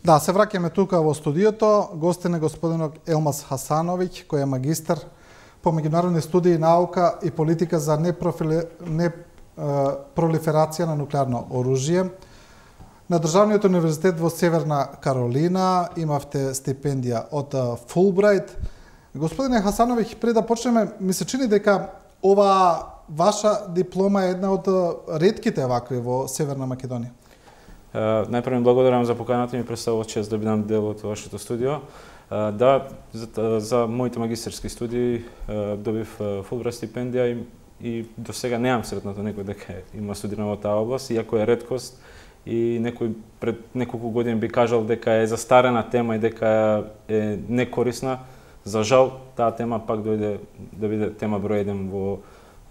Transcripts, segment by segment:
Да, се враќаме тука во студиото. Гостин е господинот Елмаз Хасановиќ, кој е магистар по меѓународни студии, наука и политика за непролиферација на нуклеарно оружје. На Државниот универзитет во Северна Каролина имавте стипендија од Фулбрајт. Господине Хасановиќ, пред да почнеме, ми се чини дека ова ваша диплома е една од ретките вакви во Северна Македонија. Најпрво благодарам за поканата, ми представува чест да бидам дел од вашето студио. Да, за моите магистерски студии добив Фулбрајт стипендија и до сега неам сретнато некој дека има студирано во таа област, иако е реткост и некој пред неколку години би кажал дека е застарена тема и дека е некорисна. За жал, таа тема пак дојде да биде тема број 1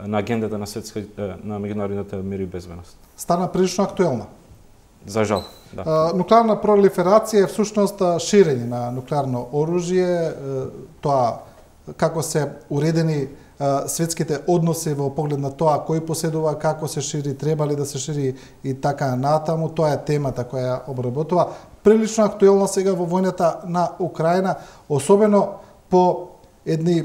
на агендата на на меѓународната мир и безбедност. Стана прилично актуелна. За жал, да. Нуклеарна пролиферација е всушност ширење на нуклеарно оружје, тоа како се уредени светските односи во поглед на тоа кој поседува, како се шири, треба ли да се шири и така натаму, тоа е темата која ја обработува. Прилично актуелна сега во војната на Украина, особено по едни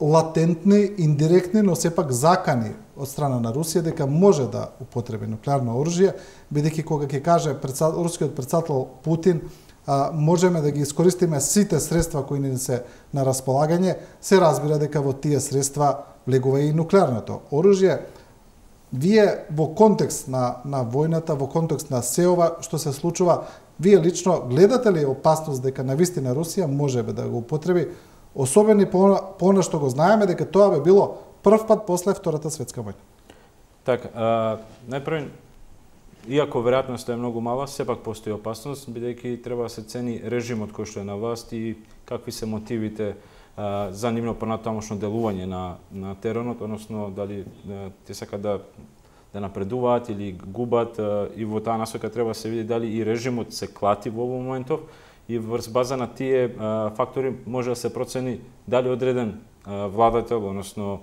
латентни, индиректни, но сепак закани од страна на Русија дека може да употреби нуклеарно оружје, бидејќи кога ќе каже рускиот претседател Путин, можеме да ги искористиме сите средства кои ни се на располагање, се разбира дека во тие средства влегува и нуклеарното оружје. Вие во контекст на војната, во контекст на се ова што се случува, вие лично гледате ли опасност дека навистина Русија можеби да го употреби, особено по она што го знаеме дека тоа би било прв пат после Втората светска војна? Така, најпрво, иако веројатноста е многу мала, сепак постои опасност, бидејќи треба да се цени режимот кој што е на власт и какви се мотивите за нивно понатамошно делување на теренот, односно дали те сакат да напредуваат или губат, и во таа насока треба да се види дали и режимот се клати во овој моментов, и врз база на тие фактори може да се процени дали одреден владател, односно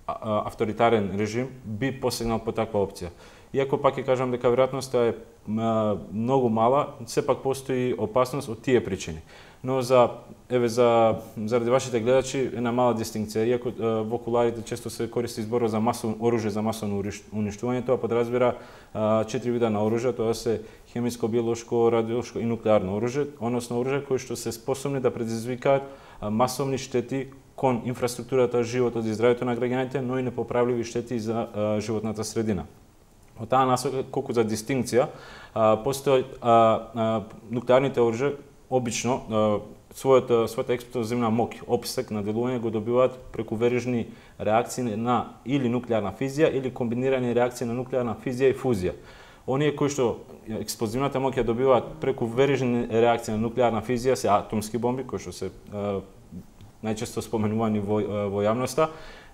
авторитарен режим би посегнал по таква опција. Иако пак ќе кажам дека веројатноста е многу мала, сепак постои опасност од тие причини. Но заради вашите гледачи една мала дистинкција, иако во куларите често се користи зборот за масовно оружје за масовно уништување, тоа подразбира 4 вида на оружје, тоа се хемиско, биолошко, радиолошко и нуклеарно оружје, односно оружје кои што се способни да предизвикаат масовни штети кон инфраструктурата, животот и здравјето на граѓаните, но и непоправливи штети за животната средина. Од таа насока, колку за дистинкција, постои нуклеарните оружје обично својата експлозивна моќ, опсек на делување го добиваат преку верижни реакции на или нуклеарна физија или комбинирани реакции на нуклеарна физија и фузија. Оние кои што експлозивната моќ ја добиваат преку верижни реакции на нуклеарна физија се атомски бомби, кои што се најчесто споменувани во јавноста,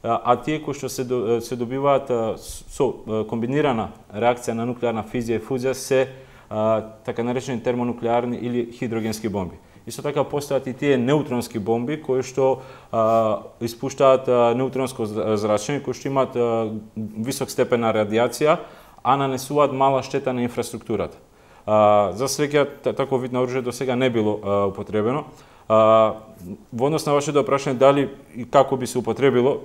а тие кои што се добиваат со комбинирана реакција на нуклеарна физија и фузија се така наречени термонуклеарни или хидрогенски бомби. Исто така постојат и тие неутронски бомби кои што испуштаат неутронско зрачење, кои што имаат висок степен на радијација, а нанесуваат мала штета на инфраструктурата. За среќа, таков вид на оружје до сега не било употребено. Во однос на вашето прашање дали и како би се употребило,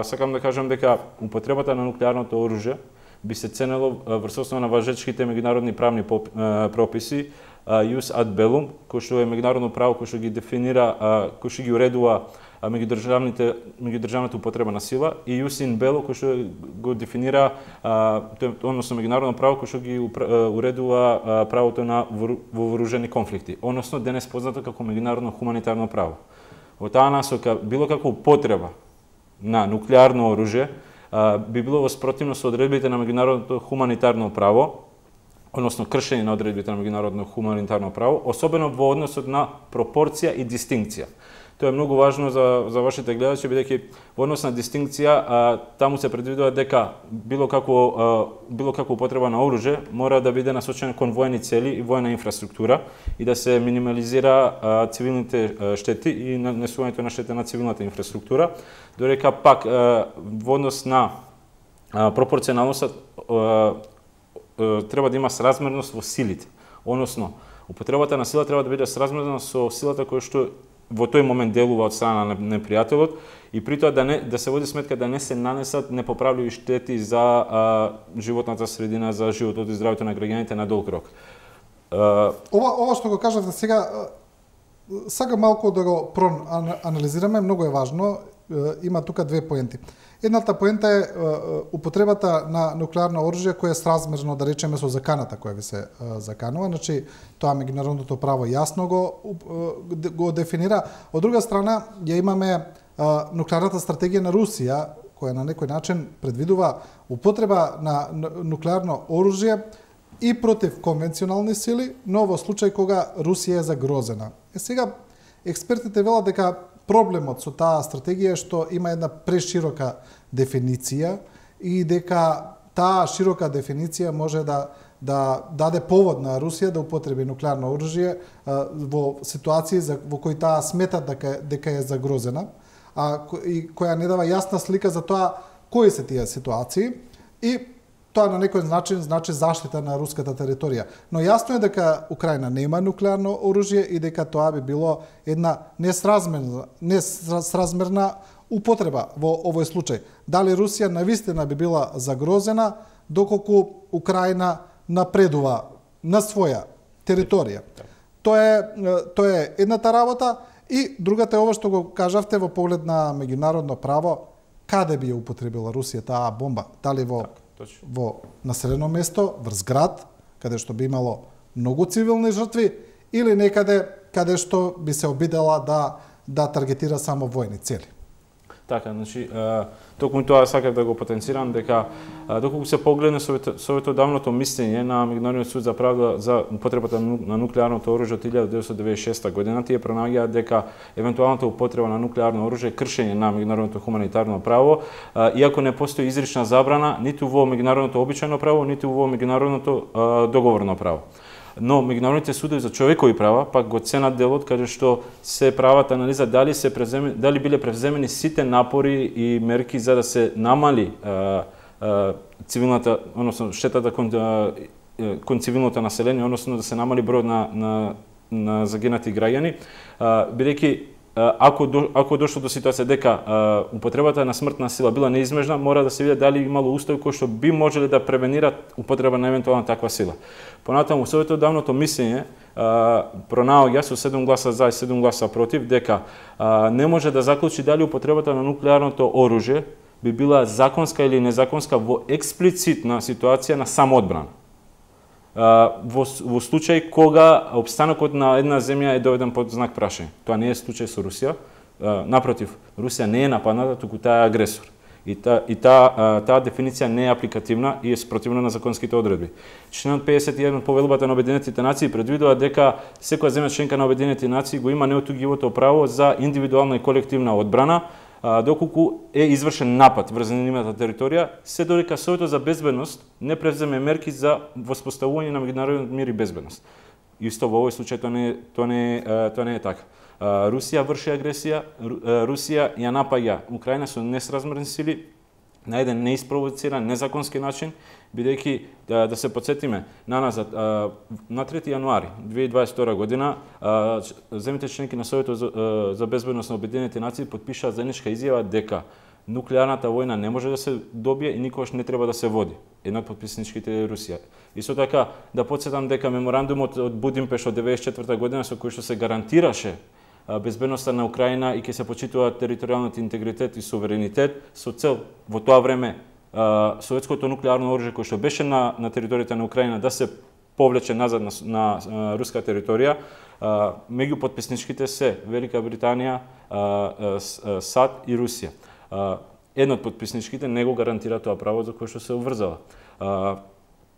сакам да кажам дека употребата на нуклеарното оружје би се ценело врз основа на важечките меѓународни правни прописи, Ius ad bellum, кој што е меѓународно право кој што ги дефинира, кој што ги уредува меѓудржавната употреба на сила, и Ius in bello, кој што го дефинира, односно меѓународно право кој што ги уредува правото на вооружени конфликти, односно денес познато како меѓународно хуманитарно право. Во таа насока, било како употреба на нуклеарно оружје би било во спротивност со одредбите на меѓународното хуманитарно право, односно кршење на одредбите на меѓународно хуманитарно право, особено во односот на пропорција и дистинкција. Тоа е многу важно за вашите гледачи, бидејќи во однос на дистинкција таму се предвидува дека било како употреба на оружје мора да биде насочено кон воени цели и воена инфраструктура и да се минимализира цивилните штети и нанесувањето на штета на цивилната инфраструктура, додека пак во однос на пропорционалноста треба да има сразмерност во силите. Односно, Употребата на сила треба да биде сразмерна со силата која што во тој момент делува од страна на непријателот и при тоа да се води сметка да не се нанесат непоправливи штети за животната средина, за животот и здравјето на граѓаните на долг рок. Ова што го кажавте сега, сакам малку да го проанализираме, многу е важно. Има тука две поенти. Едната поента е употребата на нуклеарно оружје кое е сразмерно, да речеме, со заканата која ви се заканува. Значи, тоа меѓународното право јасно го дефинира. Од друга страна, ја имаме нуклеарната стратегија на Русија, која на некој начин предвидува употреба на нуклеарно оружје и против конвенционални сили, но во случај кога Русија е загрозена. Сега, експертите велат дека проблемот со таа стратегија е што има една преширока дефиниција и дека таа широка дефиниција може да даде повод на Русија да употреби нуклеарно оружје во ситуации во кои таа смета дека е загрозена, и која не дава јасна слика за тоа кои се тие ситуации и тоа на некој начин значи заштита на руската територија. Но јасно е дека Украина нема нуклеарно оружје и дека тоа би било една несразмерна употреба во овој случај. Дали Русија навистина би била загрозена доколку Украина напредува на своја територија. Тоа е едната работа и другата е ова што го кажавте во поглед на меѓународно право, каде би ја употребила Русија таа бомба? Дали во населено место, врз град, каде што би имало многу цивилни жртви, или некаде каде што би се обидела да таргетира само војни цели. Така, значи, токму тоа сакав да го потенцирам, дека доколку се погледне советодавното мислење на Меѓународниот суд за правда за употребата на нуклеарното оружје од 1996 година, тие пронаѓаат дека евентуалната употреба на нуклеарно оружје е кршење на меѓународното хуманитарно право, иако не постои изрична забрана ниту во меѓународното обичајно право, ниту во меѓународното договорно право. Но меѓународните судови за човекови права пак го ценат делот каде што се прават анализа дали биле превземени сите напори и мерки за да се намали цивилната, односно штетата кон цивилното население, односно да се намали бројот на загинати граѓани, бидејќи ако дошло до ситуација дека употребата на смртна сила била неизбежна, мора да се види дали имало устои кои што би можеле да превенират употреба на евентуална таква сила. Понатаму, советодавното мислење пронаоѓа со 7 гласа за и 7 гласа против дека не може да заклучи дали употребата на нуклеарното оружје би била законска или незаконска во експлицитна ситуација на самоодбрана. Во случај кога опстанокот на една земја е доведен под знак прашање. Тоа не е случај со Русија. Напротив, Русија не е нападната, туку таа е агресор. И таа дефиниција не е апликативна и е спротивна на законските одредби. Членот 51 од Повелбата на Обединетите нации предвидува дека секоја земја членка на Обединетите нации го има неотугивото право за индивидуална и колективна одбрана, доколку е извршен напад врз нивната територија, се додека Советот за безбедност не превземе мерки за воспоставување на меѓународниот мир и безбедност. Исто во овој случај тоа не е така. Русија врши агресија, Русија ја напаѓа Украина со несразмерни сили на еден неиспровоциран, незаконски начин, бидејќи да се потсетиме наназад на 3 јануари 2022 година земјите членки на Советот за безбедност на Обединетите нации потпишаа заедничка изјава дека нуклеарната војна не може да се добие и никогаш не треба да се води. Една од потписничките е Русија. Исто така да потсетам дека меморандумот од Будимпешт од 1994 година со кој што се гарантираше безбедноста на Украина и ќе се почитува територијалниот интегритет и суверенитет со цел во тоа време советското нуклеарно оружје кое што беше на територијата на Украина да се повлече назад на руска територија. Меѓу потписничките се Велика Британија, САД и Русија. Едно од потписничките не го гарантира тоа право за кое што се обврзала.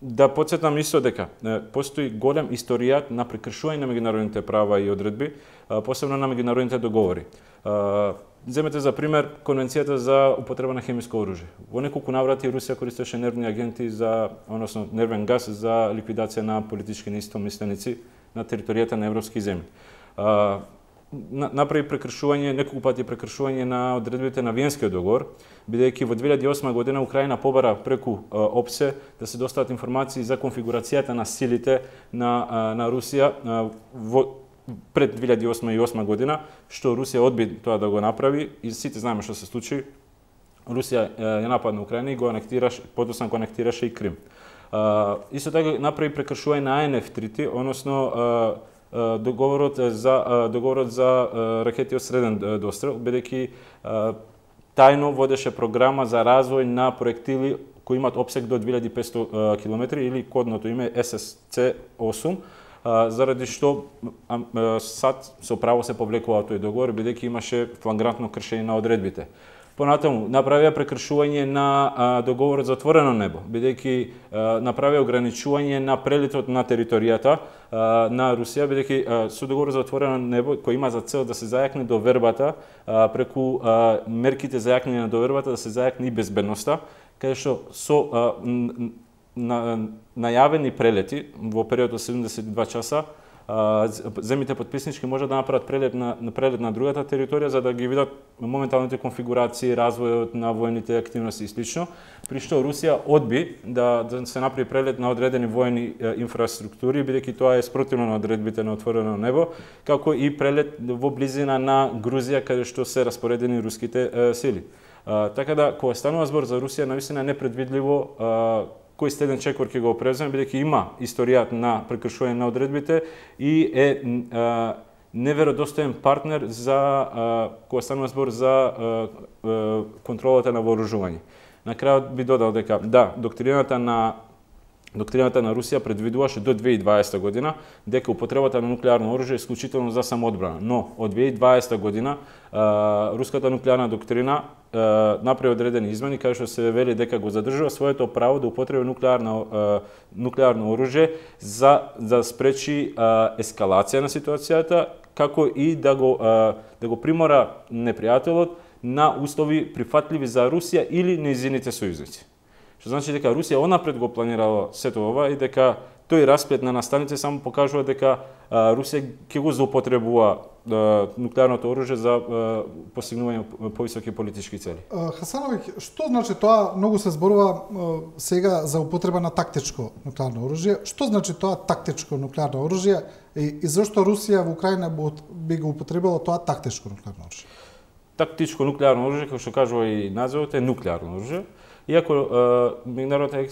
Да потсетам исто дека постои голем историјат на прекршување на меѓународните права и одредби, посебно на меѓународните договори. Земете за пример Конвенцијата за употреба на хемиско оружје. Во неколку наврати Русија користеше нервни агенти односно нервен газ за ликвидација на политички неистомисленици на територијата на европски земји. направи прекршување, неколку пати прекршување на одредбите на Виенскиот договор, бидејќи во 2008 година Украина побара преку ОПСЕ да се достават информации за конфигурацијата на силите на Русија пред 2008 година, што Русија одби тоа да го направи и сите знаеме што се случи. Русија ја нападна Украина и го анектираше, подоцна го анектираше и Крим. Исто така направи прекршување на АНФ-3, односно договорот за ракети од среден дострел, бидејќи тајно водеше програма за развој на проектили кои имаат опсег до 2500 км или кодното име SSC-8, заради што САД со право се повлекува тој договор, бидејќи имаше флагрантно кршење на одредбите. Понатаму, направија прекршување на договорот за отворено небо, бидејќи направија ограничување на прелетот на територијата на Русија, бидејќи со договорот за отворено небо, кој има за цел да се зајакне довербата, преку мерките за јакнење на довербата, да се зајакне и безбедноста, каде што со најавени прелети во период од 72 часа, земите потписнички може да направат прелет на другата територија за да ги видат моменталните конфигурации, развојот на војните активности и слично, при што Русија одби да се направи прелет на одредени војни инфраструктури, бидејќи тоа е спротивно на одредбите на отворено небо, како и прелет во близина на Грузија, каде што се распоредени руските сили. Така да, кога станува збор за Русија, навистина е непредвидливо кој следен чекор ќе го превземе, бидејќи има историјат на прекршување на одредбите и е неверодостоен партнер за кога станува збор за контролата на вооружување. На крајот би додал дека да, доктрината на Русија предвидуваше до 2020 година дека употребата на нуклеарно оружје е исклучително за самоодбрана, но од 2020 година руската нуклеарна доктрина направи одредени измени каде што се вели дека го задржува своето право да употреби нуклеарно оружје за да спречи ескалација на ситуацијата, како и да го примора непријателот на услови прифатливи за Русија или нејзините сојузници. Што значи дека Русија онапред го планирала сето ова и дека тој расплет на настаните само покажува дека Русија ќе го злоупотребува нуклеарното оружје за постигнување повисоки политички цели. Хасановиќ, што значи тоа? Многу се зборува сега за употреба на тактичко нуклеарно оружје. Што значи тоа тактичко нуклеарно оружје и зошто Русија во Украина би го употребила тоа тактичко нуклеарно оружје? Тактичко нуклеарно оружје, како што кажува и називот, е нуклеарно оружје. Иако меѓународната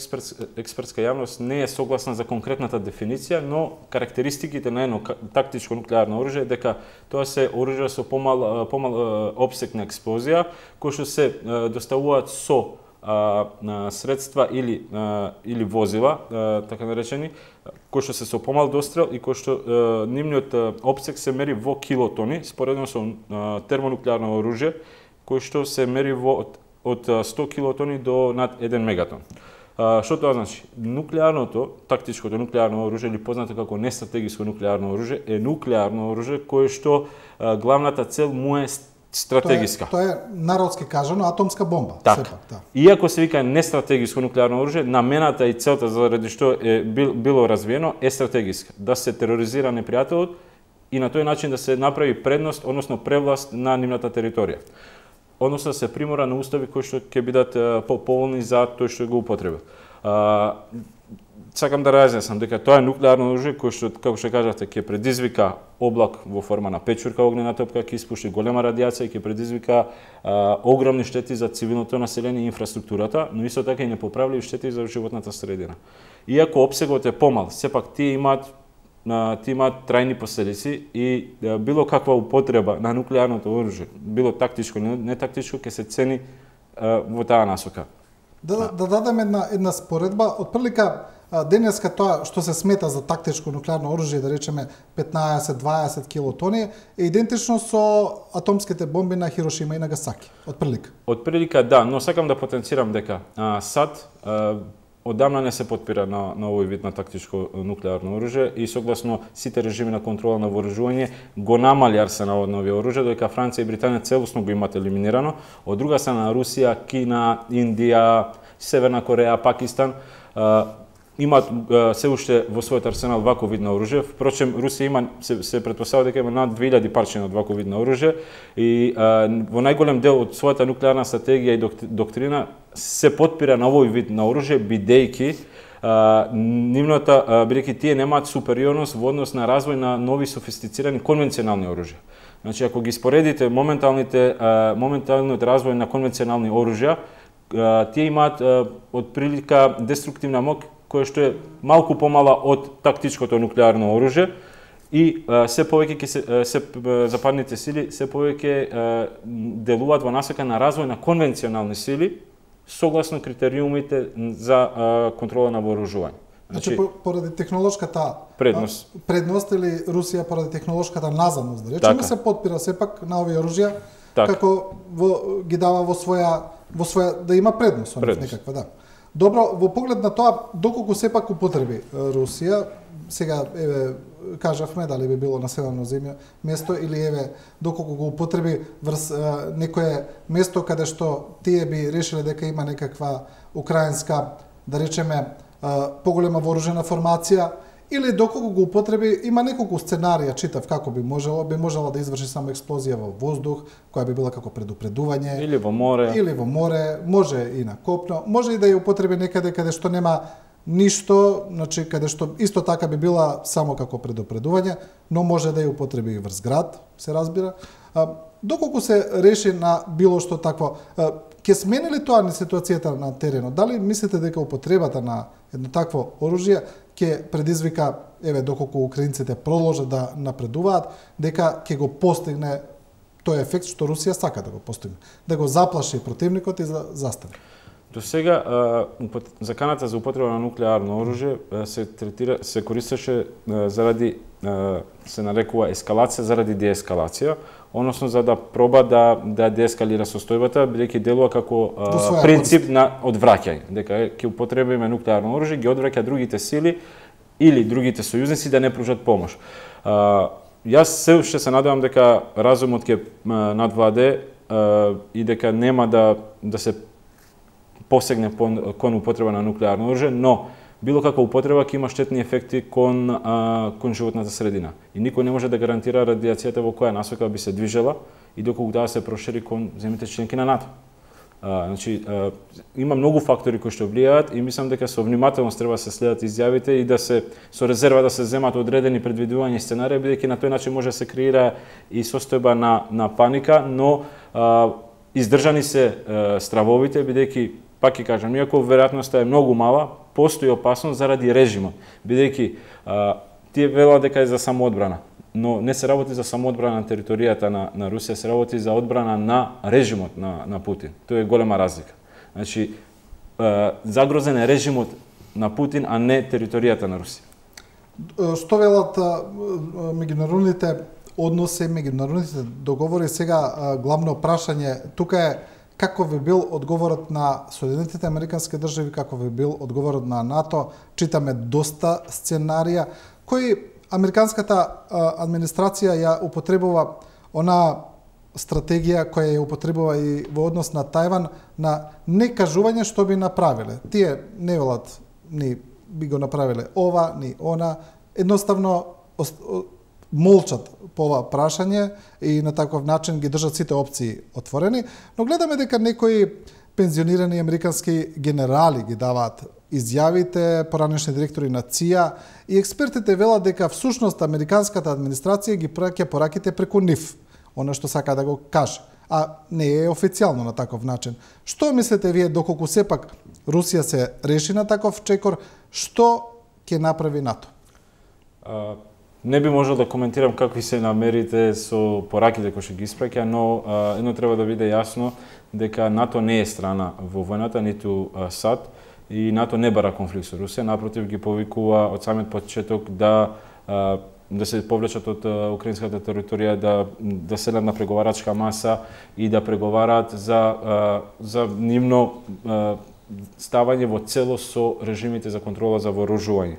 експертска јавност не е согласна за конкретната дефиниција, но карактеристиките на едно тактичко нуклеарно оружје е дека тоа се оружје со помал опсег на експлозија, кои што се доставуваат со средства или возила, така наречени, кои што се со помал дострел и кои што нивниот опсег се мери во килотони, споредно со термонуклеарно оружје, кои што се мери од 100 килотони до над 1 мегатон. Што тоа значи? Тактичкото нуклеарно оружје, или познато како нестратегиско нуклеарно оружје, е нуклеарно оружје кое што главната цел му е стратегиска. Тоа е народски кажано атомска бомба. Така. Иако се вика нестратегиско нуклеарно оружје, намената и целта заради што е било развиено е стратегиска. Да се тероризира непријателот и на тој начин да се направи предност, односно превласт на нивната територија. Односно се примора на устави кои што ќе бидат пополни за тој што го употребил. Сакам да разјаснам дека тоа е нуклеарно оружје кој што, како што кажавте, ќе предизвика облак во форма на печурка огнена топка, ќе испушти голема радијација и ќе предизвика огромни штети за цивилното население и инфраструктурата, но исто така и непоправливи штети за животната средина. Иако опсегот е помал, сепак тие имаат трајни последици и било каква употреба на нуклеарното оружје, било тактичко или нетактичко, ќе се цени во таа насока. Да дадеме една споредба, отприлика денеска тоа што се смета за тактичко нуклеарно оружје, да речеме 15-20 килотони, е идентично со атомските бомби на Хирошима и Нагасаки, отприлика. Отприлика да, но сакам да потенцирам дека САД одамна не се потпира на овој вид на тактичко нуклеарно оружје и согласно сите режими на контрола на вооружување го намали арсеналот на овие оружја, додека Франција и Британија целосно го имат елиминирано. Од друга страна Русија, Кина, Индија, Северна Кореја, Пакистан имаат се уште во својот арсенал ваков вид на оружје. Впрочем, Русија има се претпоставува дека има над 2000 парчиња од ваков вид на оружје и во најголем дел од својата нуклеарна стратегија и доктрина се потпира на овој вид на оружје, бидејќи бидејќи тие немаат супериорност во однос на развој на нови софистицирани конвенционални оружја. Значи, ако ги споредите моменталниот развој на конвенционални оружја, тие имаат отприлика деструктивна моќ која што е малку помала од тактичкото нуклеарно оружје и се повеќе западните сили се повеќе делуваат во насока на развој на конвенционални сили согласно критериумите за контрола на вооружување. Значи, поради технолошката предност или Русија поради технолошката назадност, да речеме, се потпира сепак на овие оружја како ги дава во своја да има предност некаква, да. Добро, во поглед на тоа доколку сепак употреби Русија, сега еве кажавме дали би било населено место или еве доколку го употреби врз некое место каде што тие би решиле дека има некаква украинска, да речеме, поголема вооружена формација, или доколку го употреби, има неколку сценарија, читав како би можела да изврши само експлозија во воздух, која би била како предупредување. Или во море. Може и на копно, може и да ја употреби некаде каде што нема ништо, значи каде што исто така би била само како предупредување, но може да ја употреби и врз град, се разбира. Доколку се реши на било што такво, ќе смени ли тоа на ситуацијата на теренот? Дали мислите дека употребата на едно такво оружје ќе предизвика, еве, доколку украинците продолжат да напредуваат, дека ќе го постигне тој ефект што Русија сака да го постигне, да го заплаши противникот и да застане? До сега заканата за употреба на нуклеарно оружје се користеше заради се нарекува ескалација заради деескалација, односно за да проба да деескалира состојбата, бидејќи делува како принцип на одвраќање, дека ќе употребиме нуклеарно оружје, ги одвраќа другите сили или другите сојузници да не пружат помош. Јас се уште се надевам дека разумот ќе надвладе и дека нема да се посегне кон употреба на нуклеарно оружје, но било каква употреба ќе има штетни ефекти кон животната средина. И никој не може да гарантира радиацијата во која насока би се движела и доколку да се прошири кон земјите членки на НАТО. Значи, има многу фактори кои што влијаат и мислам дека со внимателност треба да се следат изјавите и да се со резерва да се земат одредени предвидувања и сценарии, бидејќи на тој начин може да се креира и состојба на паника, но издржани се стравовите, бидејќи пак ќе кажам, иако веројатноста е многу мала, постои опасност заради режимот, бидејќи тие велат дека е за самоодбрана, но не се работи за самоодбрана на територијата на Русија, се работи за одбрана на режимот на Путин. Тоа е голема разлика. Значи, загрозен е режимот на Путин, а не територијата на Русија. Што велат меѓународните односи, меѓународните договори, сега главно прашање тука е како би бил одговорот на Соединетите Американски држави, како би бил одговорот на НАТО. Читаме доста сценарија кои американската администрација ја употребува она стратегија која ја употребува и во однос на Тајван на некажување што би направиле. Тие не велат ни би го направиле ова, ни она, едноставно молчат по ова прашање и на таков начин ги држат сите опции отворени, но гледаме дека некои пензионирани американски генерали ги даваат изјавите, поранешни директори на ЦИА и експертите велат дека всушност американската администрација ги праќа пораките преку нив, она што сака да го каже, а не е официјално на таков начин. Што мислите вие доколку сепак Русија се реши на таков чекор, што ќе направи НАТО? Не би можел да коментирам какви се намерите со пораките кои што ги испраќа, но едно треба да биде јасно дека НАТО не е страна во војната, ниту САД, и НАТО не бара конфликт со Русија, напротив ги повикува од самиот почеток да се повлечат од украинската територија, да седнат на преговарачка маса и да преговараат за нивно ставање во целост со режимите за контрола за вооружување.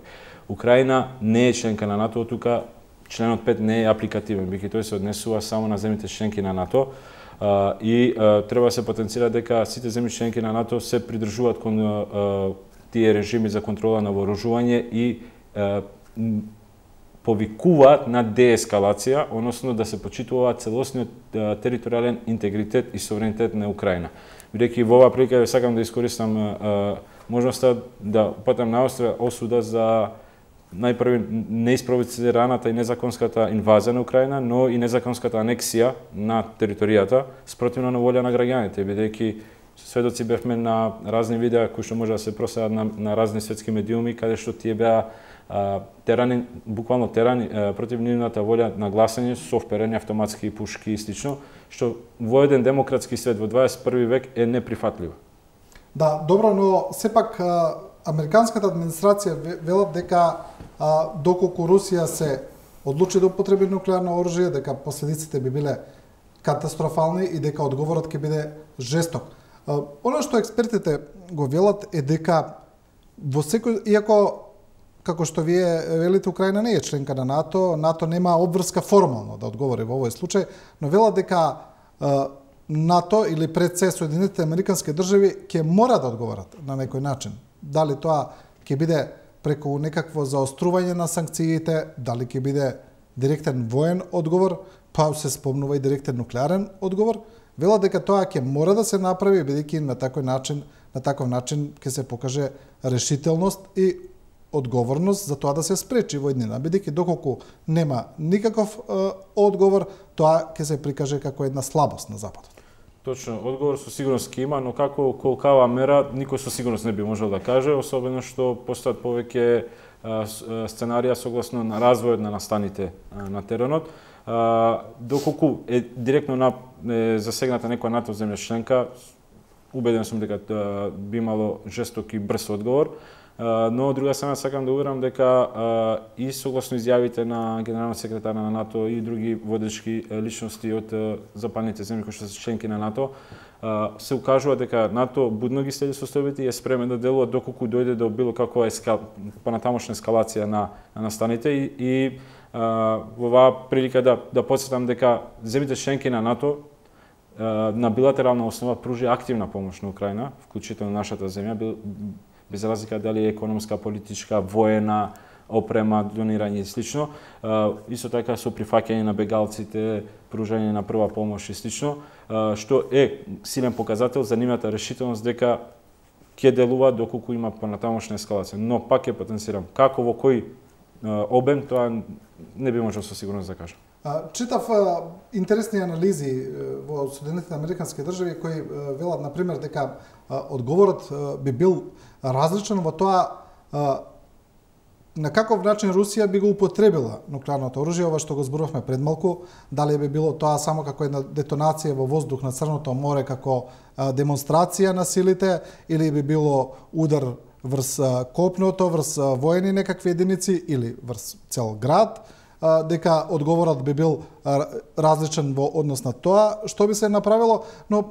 Украина не е членка на НАТО, тука членот 5 не е апликативен, бидејќи тој се однесува само на земјите членки на НАТО и треба да се потенцира дека сите земји членки на НАТО се придржуваат тие режими за контрола на вооружување и повикуваат на деескалација, односно да се почитува целосниот територијален интегритет и суверенитет на Украина. Бидејќи во оваа прилика сакам да искористам можноста да упатам на осуда за најпрви неиспровоцираната и незаконската инвазија на Украина, но и незаконската анексија на територијата спротивно на волја на граѓаните, бидејќи сведоци бевме на разни видеа кои што може да се проследат на разни светски медиуми, каде што тие беа терани, буквално терани против нивната волја на гласање со вперени автоматски пушки и слично, што во еден демократски свет во 21 век е неприфатливо. Да, добро, но сепак американската администрација велат дека доколку Русија се одлучи да употреби нуклеарно оружје, дека последиците би биле катастрофални и дека одговорот ќе биде жесток. Оно што експертите го велат е дека во секој, иако како што вие велите, Украина не е членка на НАТО, НАТО нема обврска формално да одговори во овој случај, но велат дека НАТО или пред се Соединетите американски држави ќе мора да одговорат на некој начин. Дали тоа ќе биде преку некакво заострување на санкциите, дали ќе биде директен воен одговор, па се спомнува и директен нуклеарен одговор, велат дека тоа ќе мора да се направи бидејќи на таков начин ќе се покаже решителност и одговорност за тоа да се спречи војнина, бидејќи доколку нема никаков одговор, тоа ќе се прикаже како една слабост на Западот. Точно, одговор со сигурност ќе има, но како колкава мера никој со сигурност не би можел да каже, особено што постојат повеќе сценарија согласно на развојот на настаните на теренот. Доколку е директно засегната некоја НАТО земја членка, убеден сум дека би имало жесток и брз одговор. Но од друга страна сакам да уверам дека и согласно изјавите на генералниот секретар на НАТО и други водечки личности од западните земји кои што се членки на НАТО, се укажува дека НАТО будно ги следи состојбите и е спремен да делува доколку дојде до било каква понатамошна ескалација на настаните и во оваа прилика да потсетам дека земјите членки на НАТО на билатерална основа пружи активна помош на Украина, вклучително нашата земја, без разлика дали е економска, политичка, воена, опрема, донирање и слично. Исто така со прифаќање на бегалците, пружање на прва помош и слично, што е силен показател за нивната решителност дека ќе делува доколку има понатамошна ескалација. Но пак ќе потенцирам, како во кој обем, тоа не би можел со сигурност да кажам. Читав интересни анализи во Соединетите американски држави кои велат, например, дека одговорот би бил различен во тоа на каков начин Русија би го употребила нуклеарното оружје, ова што го зборувавме пред малку, дали би било тоа само како една детонација во воздух на Црното море, како демонстрација на силите, или би било удар врз копното, врз воени некакви единици или врз цел град, дека одговорот би бил различен во однос на тоа што би се направило, но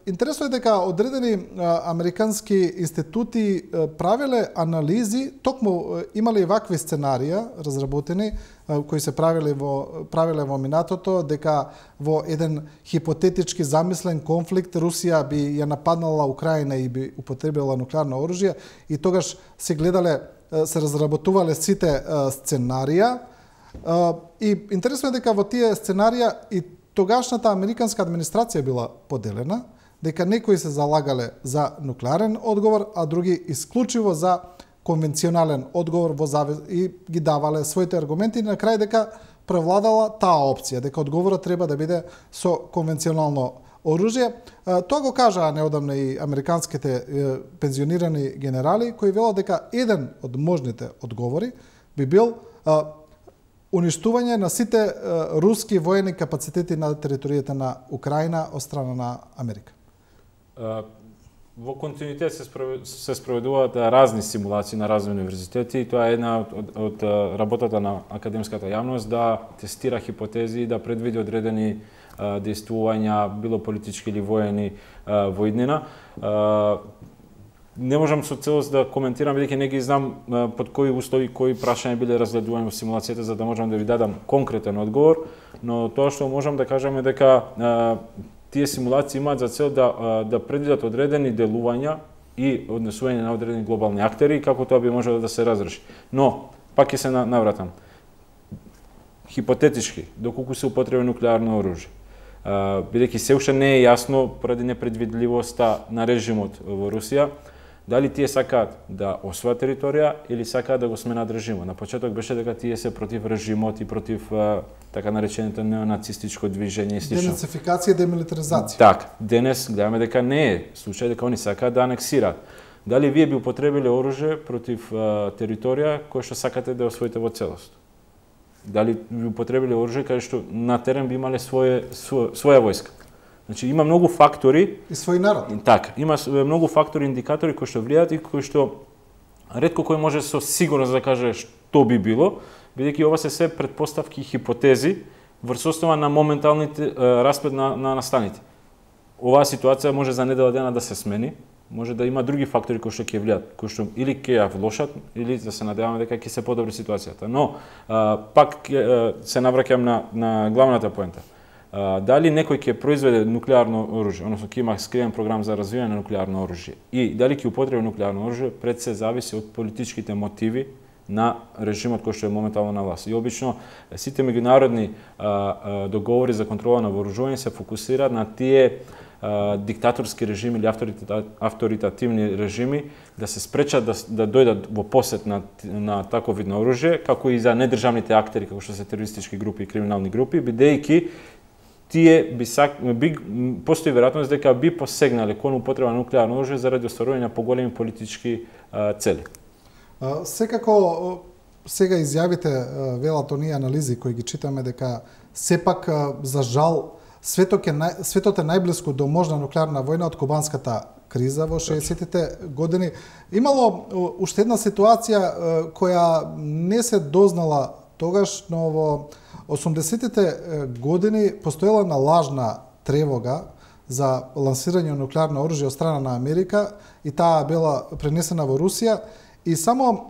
интересно е дека одредени американски институти правеле анализи, токму имале и вакви сценарија разработени кои се правеле во минатото, дека во еден хипотетички замислен конфликт Русија би ја нападнала Украина и би употребила нуклеарно оружје и тогаш се гледале, се разработувале сите сценарија. И интересно е дека во тие сценарија и тогашната американска администрација била поделена, дека некои се залагале за нуклеарен одговор, а други исклучиво за конвенционален одговор и ги давале своите аргументи и на крај дека превладала таа опција, дека одговорот треба да биде со конвенционално оружје. Тоа го кажаа неодамна и американските пензионирани генерали кои велат дека еден од можните одговори би бил уништување на сите руски воени капацитети на територијата на Украина од страна на Америка. Во континуитет се спроведуваат разни симулации на разни универзитети и тоа е една од работата на академската јавност да тестира хипотези и да предвиди одредени действувања, било политички или воени во иднина. Не можам со целост да коментирам, бидејќи не ги знам под кои услови, кои прашања биле разгледувани во симулацијата, за да можам да ви дадам конкретен одговор, но тоа што можам да кажам е дека тие симулации имаат за цел да предвидат одредени делувања и однесување на одредени глобални актери и како тоа би можело да се разреши. Но, пак ќе се навратам. Хипотетички, доколку се употреби нуклеарно оружје, бидејќи се уште не е јасно поради непредвидливоста на режимот во Русија, дали тие сакаат да освојат територија или сакаат да го сменат режимот. На почеток беше дека тие се против режимот и против така нареченото неонацистичко движење и слично. Денацификација и демилитаризација. Так, денес гледаме дека не е случај, дека они сакаат да анексираат. Дали вие би употребиле оружје против територија која што сакате да освоите во целост? Дали би употребиле оружје каде што на терен би имале своја војска? Значи има многу фактори и свој народ. Така, има многу фактори, индикатори кои што влијаат и кои што ретко кој може со сигурност да каже што би било, бидејќи ова се предпоставки и хипотези врз основа на моменталните распред на настаните. Оваа ситуација може за недела дена да се смени, може да има други фактори кои што ќе влијаат, кои што или ќе ја влошат, или да се надеваме дека ќе се подобри ситуацијата. Но пак се навраќам на главната поента. Дали некој ќе произведе нуклеарно оружје, односно ќе има скриен програм за развивање на нуклеарно оружје и дали ќе употреби нуклеарно оружје, пред се зависи од политичките мотиви на режимот кој што е моментално на власт. И обично сите меѓународни договори за контрола на вооружување се фокусираат на тие диктаторски режими или авторитативни режими да се спречат да дојдат во посет на таков вид на оружје, како и за недржавните актери, како што се терористички групи и криминални групи, бидејќи тие постои веројатност дека би посегнале кон употреба на нуклеарно оружје заради остварување на поголеми политички цели. Секако сега изјавите велат оние анализи кои ги читаме дека сепак за жал светот е најблиску до можна нуклеарна војна од кубанската криза во 60-тите години. Имало уште една ситуација која не се дознала тогаш, но во 80-тите години постоела на лажна тревога за лансирање на нуклеарно оружје од страна на Америка и таа била пренесена во Русија и само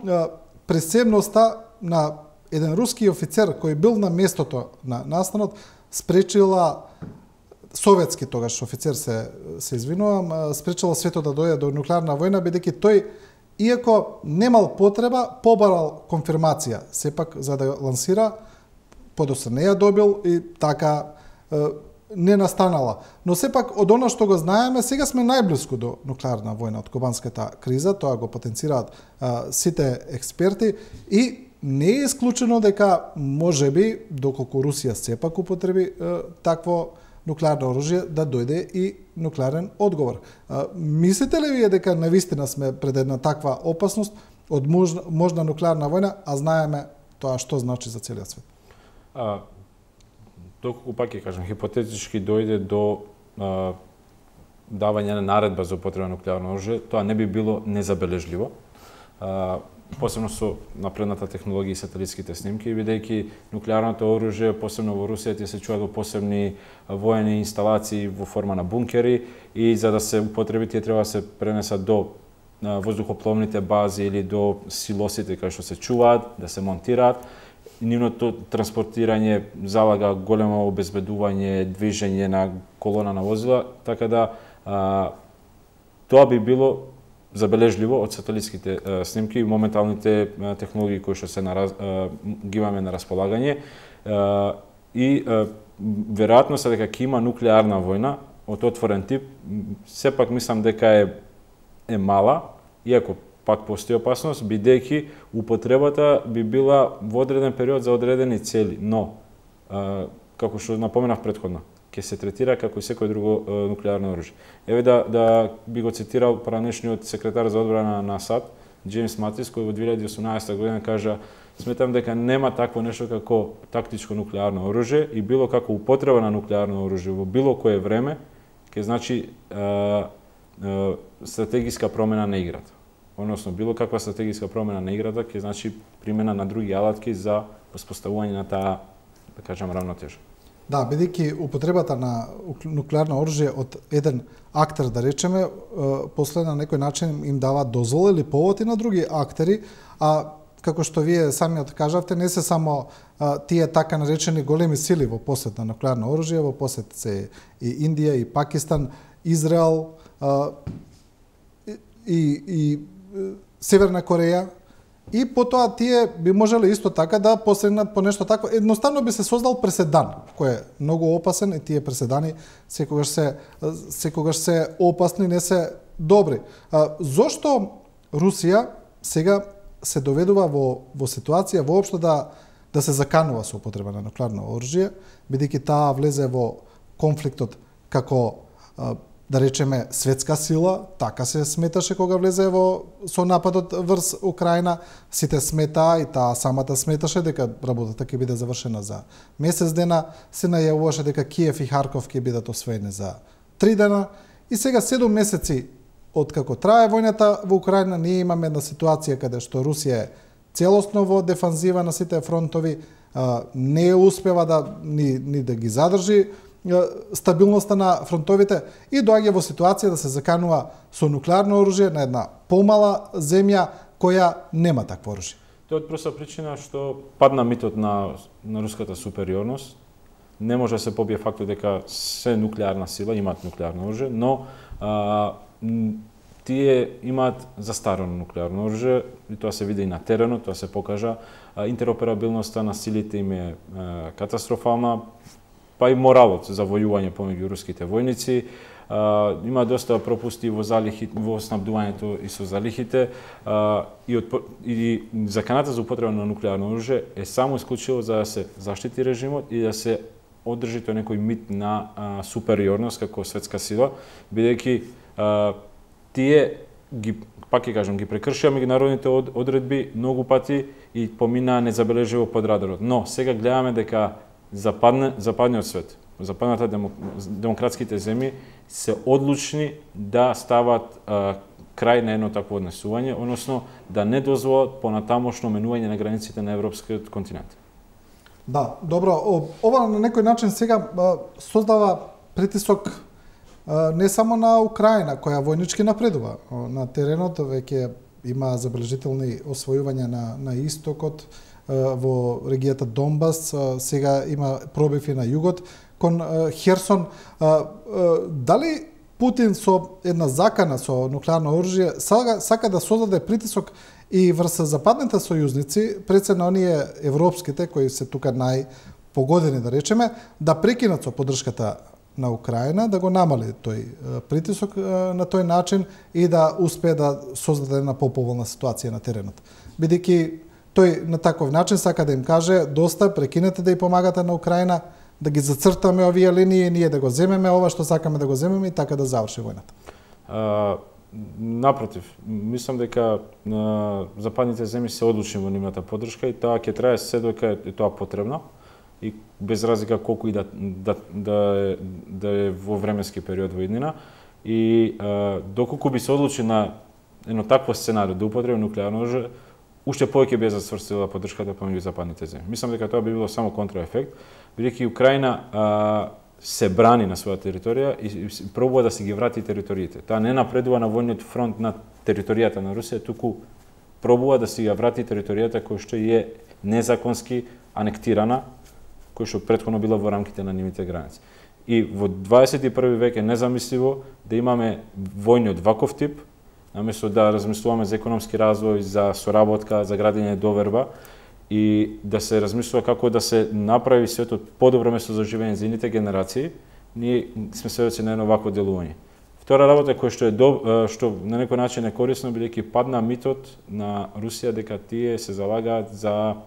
пресебноста на еден руски офицер кој бил на местото на настанот спречила советски тогаш офицер се извинувам, спречила светот да дојде до нуклеарна војна бидејќи тој иако немал потреба, побарал конфирмација сепак за да лансира, подоцна не ја добил и така не настанала. Но сепак од она што го знаеме, сега сме најблиску до нуклеарна војна од кубанската криза, тоа го потенцираат сите експерти и не е исклучено дека можеби доколку Русија сепак употреби такво нуклеарно оружје да дојде и нуклеарен одговор. Мислите ли вие дека навистина сме пред една таква опасност од можна нуклеарна војна, а знаеме тоа што значи за целиот свет? Доколку пак ќе кажам, хипотетички дојде до давање на наредба за употреба на нуклеарно оружје, тоа не би било незабележливо. Посебно со напредната технологија и сателитските снимки, бидејќи нуклеарното оружје, посебно во Русија, се чуваат во посебни воени инсталации во форма на бункери и за да се употреби тие треба да се пренесат до воздухопловните бази или до силосите кај што се чуваат, да се монтираат. Нивното транспортирање залага големо обезбедување, движење на колона на возила, така да тоа би било забележливо од сателитските снимки и моменталните технологии кои што се ги имаме на располагање и веројатноста дека ќе има нуклеарна војна од отворен тип, сепак мислам дека е мала, иако пак постои опасност, бидејќи употребата би била во одреден период за одредени цели, но како што напоменав претходно, ќе се третира како и секој друго нуклеарно оружје. Еве да би го цитирал поранешниот секретар за одбрана на САД, Џејмс Матис, кој во 2018 година кажа: "Сметам дека нема такво нешто како тактичко нуклеарно оружје и било како употреба на нуклеарно оружје во било кое време ќе значи стратегиска промена на играта." Односно, било каква стратегиска промена на играта ќе значи примена на други алатки за воспоставување на таа, да кажам, равнотежа. Да, бидејќи употребата на нуклеарно оружје од еден актер, да речеме, после на некој начин им дава дозвола или повод и на други актери, а како што вие самиот кажавте, не се само тие така наречени големи сили во посет на нуклеарно оружје, во посет се и Индија, и Пакистан, Израел, и Северна Кореја, и потоа тие би можеле исто така да посегнат по нешто такво. Едноставно би се создал преседан, кој е многу опасен, и тие преседани секогаш се опасни, не се добри. Зошто Русија сега се доведува во ситуација воопшто да се заканува со употреба на нуклеарно оружје, бидејќи таа влезе во конфликтот како да речеме светска сила, така се сметаше кога влезе со нападот врз Украина, сите смета и таа самата сметаше дека работата ќе биде завршена за месец дена, се најавуваше дека Киев и Харков ќе бидат освоени за 3 дена, и сега 7 месеци откако трае војната во Украина, ние имаме една ситуација каде што Русија е целосно во дефанзива на сите фронтови, не успева ни да ги задржи стабилноста на фронтовите, и доаѓа во ситуација да се заканува со нуклеарно оружје на една помала земја која нема такво оружје. Тоа е од проста причина што падна митот на руската супериорност. Не може да се побие фактот дека се нуклеарна сила имаат нуклеарно оружје, но тие имаат застарено нуклеарно оружје, и тоа се види и на теренот, тоа се покажа. Интероперабилноста на силите им е катастрофална, па и моралот за војување помеѓу руските војници. Има доста пропусти во снабдувањето и со залихите, и заканата за употреба на нуклеарно оружје е само исклучиво за да се заштити режимот и да се одржи тој некој мит на супериорност како светска сила, бидејќи тие пак ќе кажам, ги прекршија меѓународните одредби многу пати и поминаа незабележливо под радарот. Но сега гледаме дека западниот свет, западната демократските земји се одлучни да стават крај на едно такво однесување, односно да не дозволат понатамошно менување на границите на европскиот континент. Да, добро, ова на некој начин сега создава притисок не само на Украина, која војнички напредува на теренот, веќе има забележителни освојувања на истокот, во регијата Донбас, сега има пробиви на југот кон Херсон. Дали Путин со една закана со нуклеарно оружје сака да создаде притисок и врз западните сојузници, пред се на оние европските, кои се тука најпогодени, да речеме, да прекинат со поддршката на Украина, да го намали тој притисок на тој начин и да успее да создаде една поповолна ситуација на теренот. Бидејќи тој на таков начин сака да им каже: доста, прекинете да ја помагате на Украина, да ги зацртаме овие линии, ние да го земеме ова што сакаме да го земеме и така да заврши војната. Напротив, мислам дека западните земји се одлучни во нивната поддршка и тоа ќе трае се додека е тоа потребно, и без разлика колку и да е во временски период во иднина. И доколку би се одлучи на едно такво сценарио да употреби нуклеарно оружје, уште повеќе би засврстила поддршката помеѓу западните земји. Мислам дека тоа би било само контраефект, бидејќи Украина се брани на своја територија и пробува да се ги врати териториите. Таа не напредува на војниот фронт на територијата на Русија, туку пробува да се ја врати територијата која што е незаконски анектирана, која што претходно била во рамките на нивните граници. И во 21 век е незамисливо да имаме војни од ваков тип, наместо да размислуваме за економски развој, за соработка, за градење доверба, и да се размислува како да се направи светот подобро место за живење за ините генерации, ние сме сведоци на едно вакво делување. Втора работа која што на некој начин е корисно, бидејќи падна митот на Русија дека тие се залагаат за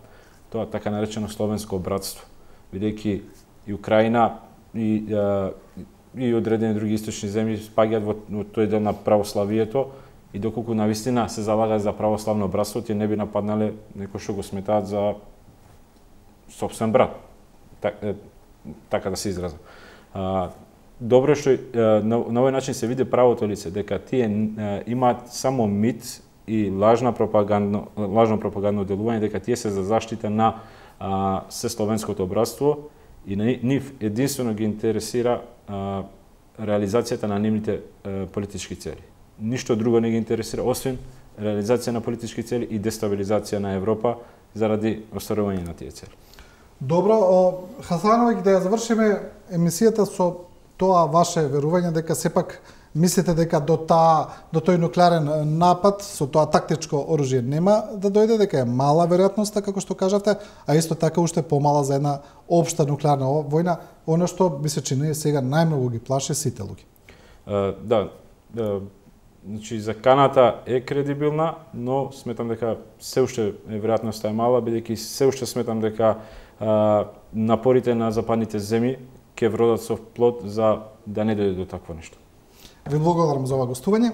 тоа така наречено словенско братство, бидејќи и Украина и одредени други источни земји спаѓаат во тој дел на православието, и доколку навистина се залагаат за православно братство, тие не би нападнале некој што го сметаат за сопствен брат, така да се изразам. Добро што на овој начин се види правото лице, дека тие имаат само мит и лажно пропагандно делување, дека тие се за заштита на сесловенското братство и нив единствено ги интересира реализацијата на нивните политички цели. Ништо друго не ги интересира, освен реализација на политички цели и дестабилизација на Европа заради остварување на тие цели. Добро, Хасановиќ, да ја завршиме емисијата со тоа ваше верување дека сепак Мислите дека до тој нуклеарен напад со тоа тактичко оружје нема да дојде, дека е мала веројатноста, како што кажавте, а исто така уште помала за една општа нуклеарна војна, оно што би се чини сега најмногу ги плаше сите луѓе. Значи за каната е кредибилна, но сметам дека се уште веројатноста е мала, бидејќи се уште сметам дека напорите на западните земји ќе вродат со плод за да не дојде до такво нешто. Ви благодарам за ова гостување.